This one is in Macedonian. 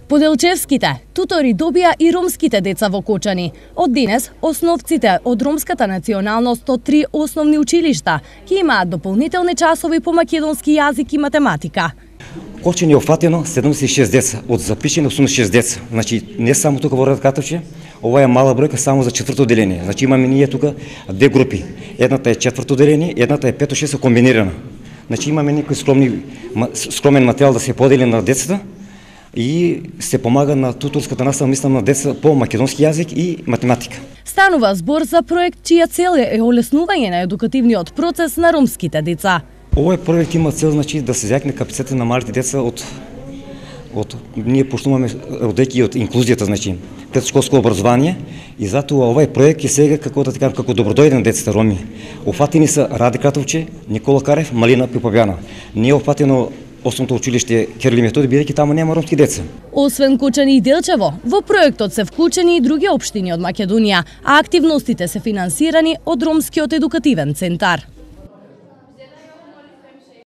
Поделчевските тутори добија и ромските деца во Кочани. Од денес, основците од ромската националност од 3 основни училишта ќе имаат дополнителни часови по македонски јазик и математика. Кочани е офатено 76 деца, од запишени 86 деца. Значи, не само тука во Радкатовче, ова е мала бројка само за четврто одделение. Значи, имаме ние тука две групи. Едната е четврто одделение, едната е 5-6 комбинирана. Значи, имаме некој скромен материјал да се подели на децата и се помага на туторската настава, мислам, на деца по македонски јазик и математика. Станува збор за проект чија цел е олеснување на едукативниот процес на ромските деца. Овој проект има цел, значи, да се зјакне капацитетот на малите деца ние почнуваме одејќи од инклузијата, значи, предшколско образование, и затоа овој проект е сега како да кажам, како добродојден децата роми. Офатени се Раде Кратовче, Никола Карев, Малина Пипавјана. Не е офатено Основното училиште Кирил и Методи, бидејќи таму нема ромски деца. Освен Кочани и Делчево, во проектот се вклучени и други општини од Македонија, а активностите се финансирани од Ромскиот едукативен центар.